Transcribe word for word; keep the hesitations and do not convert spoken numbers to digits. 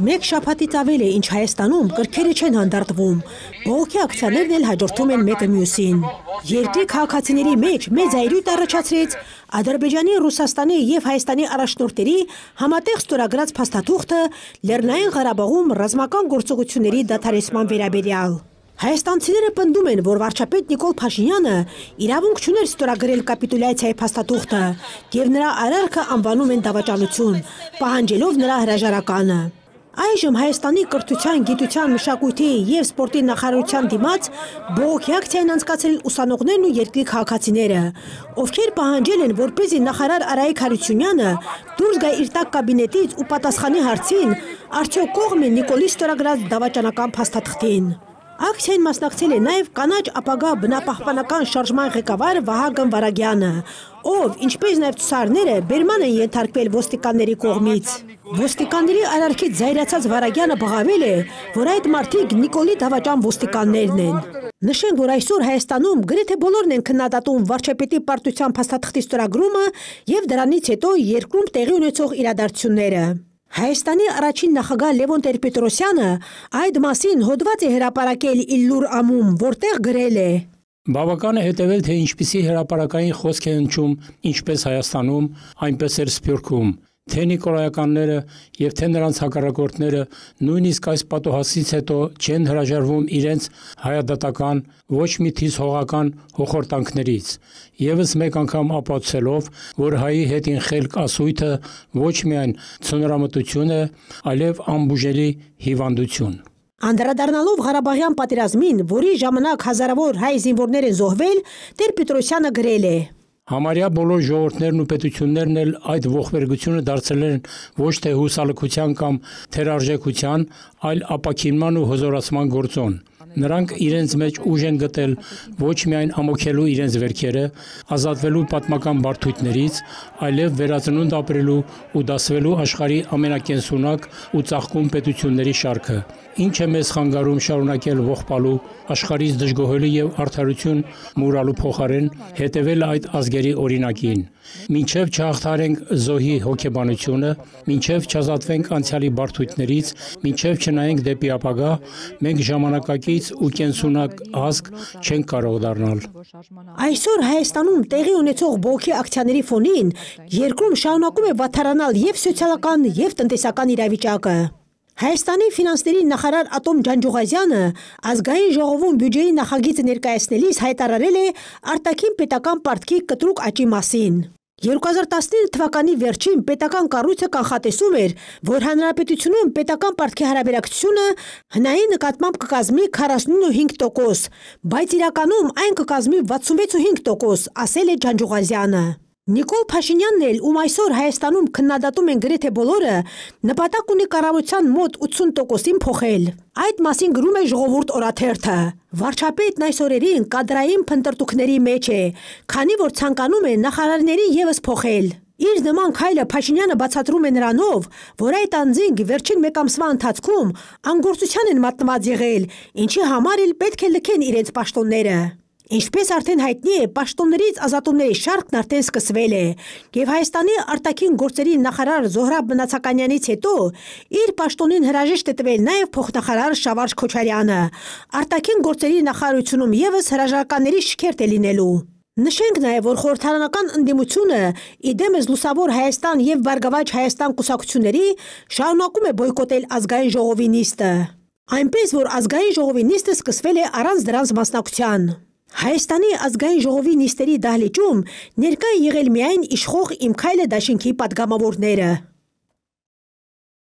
Մեկ շաբաթից ավել է, ինչ Հայաստանում կրքերը չեն հանդարտվում, բողոքի ակցիաներն էլ հաջորդում են մեկը մյուսին։ Երկրի քաղաքացիների մեջ մեծ այրույթ առաջացրեց Ադրբեջանի, Ռուսաստանի և Հայաստանի առաջնորդների համատեղ ստորագրած փաստաթուղթը Լեռնային Ղարաբաղում ռազմական գործողությունների դադարեցման վերաբերյալ։ Հայաստանցիները պնդում են, որ վարչապետ Նիկոլ Փաշինյանը իրավունք չուներ ստորագրել կապիտուլյացիայի փաստաթուղթը և նրա արարքը անվանում են դավաճանություն, պահանջելով նրա հրաժարականը։ Այժմ Հայաստանի կրթության, գիտության, մշակույթի և սպորտի նախարարության դիմաց բողոքի ակցիա են անցկացրել ուսանողներն ու երկրի քաղաքացիները, ովքեր պահանջել են, որպեսզի նախարար Արայիկ Հարությունյանը դուրս գա իր տաք կաբինետից ու պատասխանի հարցին, արդյոք կողմ է Նիկոլի ստորագրած դավաճանական փաստաթղթին։ Ակցիային մասնակցել է նաև կանաչ ապագա բնապահպանական շարժման ղեկավար Վահագն Վարագյանը, ով, ինչպես նաև ցուցարարները, բերման են ենթարկվել ոստիկանների կողմից։ Ոստիկանների արարքից զայրացած Վարագյանը բղավել է, որ այդ մարդիկ Նիկոլի դավաճան ոստիկաններն են։ Նշենք, որ այսօր Հայաստանում գրեթե բոլորն են քննադատում վարչապետի պարտության փաստաթղթի ստորագրումը և դրանից հետո երկրում տեղի ունեցող իրադարձությունները։ Հայաստանի առաջին նախագահ Լևոն Տեր-Պետրոսյանը այդ մասին հոդված է հրապարակել Իլլուր ամում, որտեղ գրել է. Բավական է հետևել, թե ինչպիսի հրապարակային խոսք է հնչում ինչպես Հայաստանում, այնպես էլ Սփյուռքում, թե նիկոլայականները և թե նրանց հակառակորդները նույնիսկ այս պատոհասից հետո չեն հրաժարվում իրենց հայադատական, ոչ մի թիզ հողական հոխորտանքներից, ևս մեկ անգամ ապացուցելով, որ հայի հետին խելք ասույթը ոչ միայն ցնորամտություն է, այլև անբուժելի հիվանդություն։ Անդրադառնալով Ղարաբաղյան պատերազմին, որի ժամանակ հազարավոր հայ զինվորներ են զոհվել, Տեր-Պետրոսյանը գրել է. Համարյա բոլոր ժողովուրդներն ու պետություններն էլ այդ ողբերգությունը դարձել են ոչ թե հուսալքության կամ թերարժեքության, այլ ապաքինման ու հզորացման գործոն։ Նրանք իրենց մեջ ուժ են գտել ոչ միայն ամոքելու իրենց վերքերը, ազատվելու պատմական բարդույթներից, այլև վերածնունդ ապրելու ու դասվելու աշխարհի ամենակենսունակ ու ծաղկուն պետությունների շարքը, ինչը մեզ խանգարում շարունակել ողբալու, աշխարհից դժգոհելու և արդարություն մուրալու փոխարեն հետևել այդ ազգերի օրինակին, մինչև չհաղթահարենք զոհի հոգեբանությունը, մինչև չազատվենք անցյալի բարդույթներից, մինչև չնայենք դեպի ապագա, մենք ժամանակակից ու կենսունակ ազգ չենք կարող դառնալ։ Այսօր Հայաստանում տեղի ունեցող բողոքի ակցիաների ֆոնին երկրում շարունակում է վատթարանալ և սոցիալական, և տնտեսական իրավիճակը։ Հայաստանի ֆինանսների նախարար Ատոմ Ջանջուղազյանը ազգային ժողովում բյուջեի նախագիծը ներկայացնելիս հայտարարել է արտաքին պետական պարտքի կտրուկ աճի մասին։ երկու հազար տասնինը թվականի վերջին պետական կառույցը կանխատեսում էր, որ հանրապետությունում պետական պարտքի հարաբերակցությունը հնայի նկատմամբ կկազմի քառասունհինգ տոկոս, բայց իրականում այն կկազմի վաթսունվեց տոկոս, ասել է Ջանջուղազյանը։ Նիկոլ Փաշինյանն էլ, ում այսօր Հայաստանում քննադատում են գրեթե բոլորը, նպատակ ունի կառավարության մոտ ութսուն տոկոսին փոխել։ Այդ մասին գրում է Ժողովուրդ օրաթերթը։ Վարչապետն այս օրերին կադրային փնտրտուքների մեջ է, քանի որ ցանկանում է նախարարներին ևս փոխել։ Իր նման քայլը Փաշինյանը բացատրում է նրանով, որ այդ անձինք վերջին մեկ ամսվա ընթացքում անգործության են մատնված եղել, ինչի համար էլ պետք է լքեն իրենց պաշտոնները։ Ինչպես արդեն հայտնի է, պաշտոններից ազատումների շարքն արդեն սկսվել է, և Հայաստանի արտաքին գործերի նախարար Զոհրաբ Մնացականյանից հետո իր պաշտոնին հրաժեշտ է տվել նաև փոխնախարար Շավարշ Քոչարյանը, արտաքին գործերի նախարարությունում ևս հրաժարականների շքերթ է լինելու։ Նշենք նաև, որ խորհրդարանական ընդդիմությունը իդեմս Լուսավոր Հայաստան և Բարգավաճ Հայաստան կուսակցությունների շարունակում է բոյկոտել ազգային ժողովի նիստը։ Այնպես, որ ազգային ժողովի նիստը սկսվել է առանց դրանց մասնակցության։ Հայաստանի ազգային ժողովի նիստերի դահլիճում ներկա է եղել միայն իշխող Իմ քայլը դաշինքի պատգամավորները։